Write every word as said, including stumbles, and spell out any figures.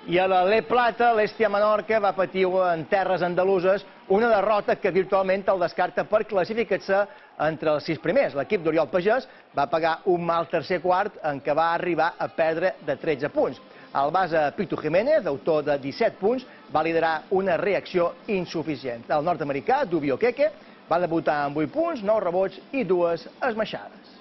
I a la Le Plata, l'Hèstia Menorca va patir en terres andaluses una derrota que virtualment el descarta per classificar-se entre els sis primers. L'equip d'Oriol Pagès va pagar un mal tercer quart en què va arribar a perdre de tretze punts. El base Pitu Jiménez, autor de disset punts, va liderar una reacció insuficient. El nord-americà, Dubio Keke, va debutar amb vuit punts, nou rebots i dues esmaixades.